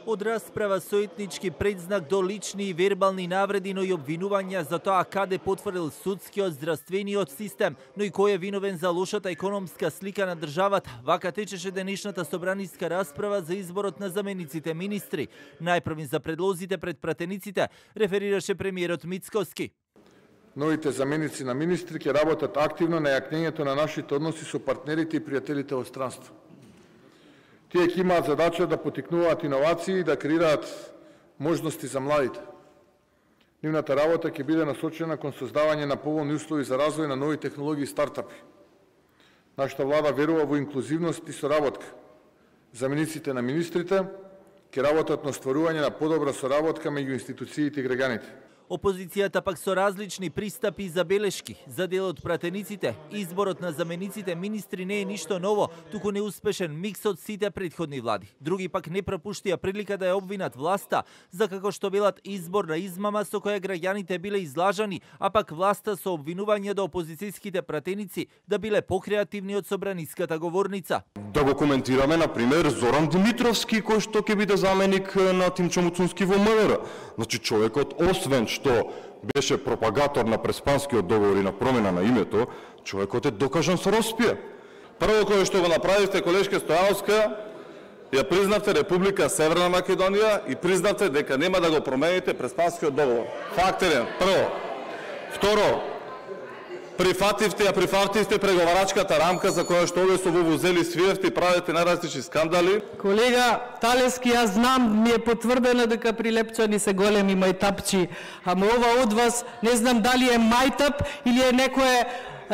Од расправа со етнички предзнак до лични и вербални навреди, но и обвинувања за тоа каде потврдил судскиот здравствениот систем, но и кој е виновен за лошата економска слика на државата. Вака течеше денешната собраниска расправа за изборот на замениците министри. Најпрвин за предлозите пред пратениците реферираше премиерот Мицкоски. Новите заменици на министри ќе работат активно на јакнењето на нашите односи со партнерите и пријателите во странство. Тие ќе имаат задача да потикнуваат иновации и да креираат можности за младите. Нивната работа ќе биде насочена кон создавање на поволни услови за развој на нови технологии и стартапи. Нашата влада верува во инклузивност и соработка. Замениците на министрите ќе работат на стварување на подобра соработка меѓу институциите и граѓаните. Опозицијата пак со различни пристапи и забелешки. За дел од пратениците, изборот на замениците министри не е ништо ново, туку неуспешен микс од сите претходни влади. Други пак не пропуштија прилика да ја обвинат власта, за како што велат избор на измама со која граѓаните биле излажани, а пак власта со обвинување до опозицијските пратеници да биле покреативни од собраниската говорница. Да го коментираме, например, Зоран Димитровски, кој што ќе биде заменик на Тимчо Муцунски во МВР. Значи, човекот, освен што беше пропагатор на Преспанскиот договор и на промена на името, човекот е докажан со роспија. Прво кое што го направивте, колешка Стојановска, ја признавте Република Северна Македонија и признавте дека нема да го промените Преспанскиот договор. Факт еден, прво. Второ, прифативте преговарачката рамка за која што овде со вувузели свиевте и правите најразлични скандали. Колега Талески, јас знам, ми е потврдено дека прилепчани се големи мајтапчи, ама ова од вас не знам дали е мајтап или е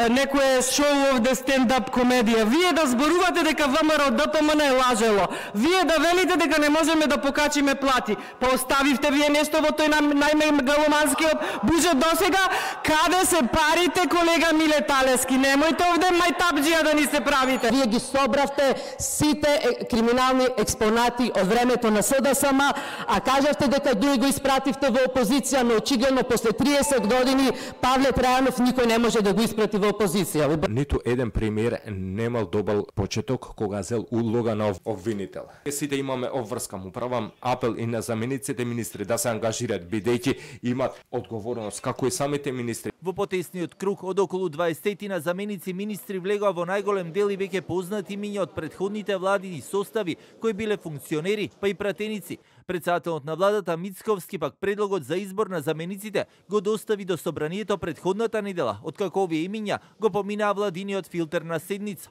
некое шоу овде стендап комедија. Вие да зборувате дека ВМРО ДПМН е лажело. Вие да велите дека не можеме да покачиме плати. Па оставивте вие нешто во тој најмегаломанскиот буџет досега. Каде се парите, колега Миле Талески? Немојте овде мајтапџија да ни се правите. Вие ги собравте сите криминални експонати од времето на СДСМ, а кажавте дека други го испративте во опозиција, но очигледно после 30 години Павле Трајанов никој не може да го испрати во опозиција. Ниту еден премиер немал добар почеток кога зел улога на обвинител. Сите имаме обврска, му правам апел и на замениците министри да се ангажираат, бидејќи имат одговорност како и самите министри. Во потесниот круг од околу 20 на заменици министри влегоа во најголем дел и веќе познати имиња од претходните влади и состави кои биле функционери, па и пратеници. Председателот на владата Мицковски пак предлогот за избор на замениците го достави до собранието претходната недела, откако овие имиња го поминаа владиниот филтер на седница.